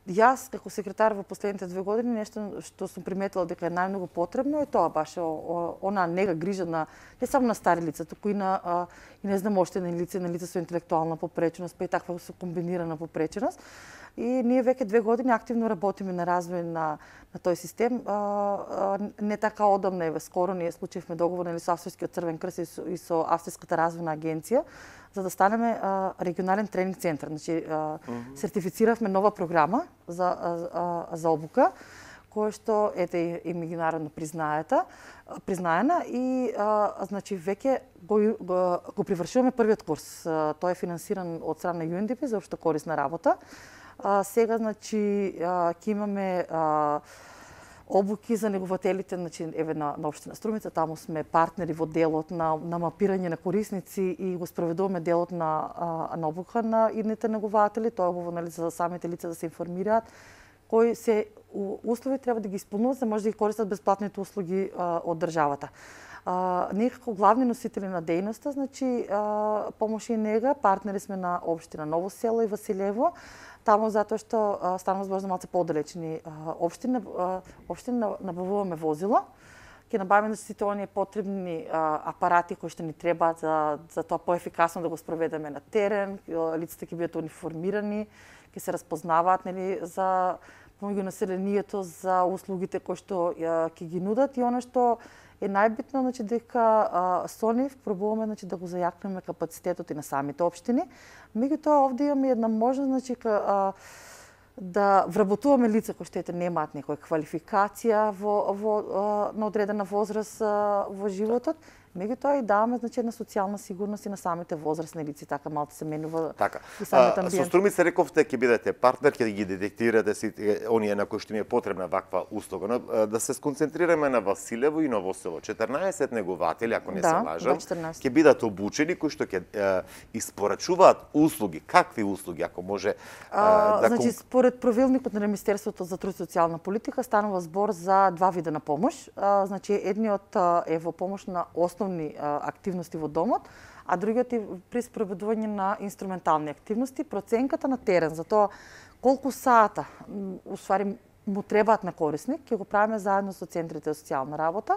Јас како секретар во последните 2 години нешто што сум приметила дека е најмногу потребно е тоа баш она нега грижа на не само на стари лица, туку и на и не знам още на лица со интелектуална попреченост, па и таква со комбинирана попреченост. И ние веќе 2 години активно работиме на развој на тој систем. Не така одамна, еве скоро ние склучивме договор со Австрискиот Црвен крст и со Австриската развојна агенција за да станеме регионален тренинг центар. Значи сертифициравме нова програма за обука која што ете и меѓународно признаена и значи веќе го привршуваме првиот курс. Тој е финансиран од страна на UNDP за општо корисна работа. Сега значи ќе имаме обуки за негователите, значи еве на општина Струмица, таму сме партнери во делот на мапирање на корисници и го спроведуваме делот на обука на идните негователи, тоа е убаво за самите лица да се информираат кои се услови треба да ги исполнуваат за да може да ги користат бесплатните услуги од државата. Ние како главни носители на дејноста, значи помош и нега, партнери сме на општина Ново село и Василево, таму затоа што станува збор за малце подалечни општини набавуваме возила. Ќе набавиме сите оние потребни апарати кои што ни требаат за тоа поефикасно да го спроведеме на терен, лицата ќе бидат униформирани, ќе се разпознаваат нели за помеѓу населението за услугите кои што ќе ги нудат и она што е најбитно, значи дека со нив пробуваме значи да го зајакнеме капацитетот и на самите општини. Меѓутоа овде имаме една можност значи да вработуваме лица кои што немаат некоја квалификација на одредена возраст во животот. Меѓутоа и даваме значи една социјална сигурност и на самите возрастни лица, така малку се менува и самиот амбиент. Со Струмица рековте ќе бидете партнер, ќе ги детектирате сите оние на кои што им е потребна ваква услуга, но да се сконцентрираме на Василево и Ново село. 14 негователи, ако не се лажам, ќе бидат обучени кои што ќе испорачуваат услуги. Какви услуги, ако може значи според правилникот на Министерството за труд и социјална политика станува збор за 2 вида на помош. Значи едниот е во помош на основни активности во домот, а другиот е при спроведување на инструментални активности, проценката на терен за тоа колку сата уствари му требаат на корисник, ќе го правиме заедно со центрите за социјална работа.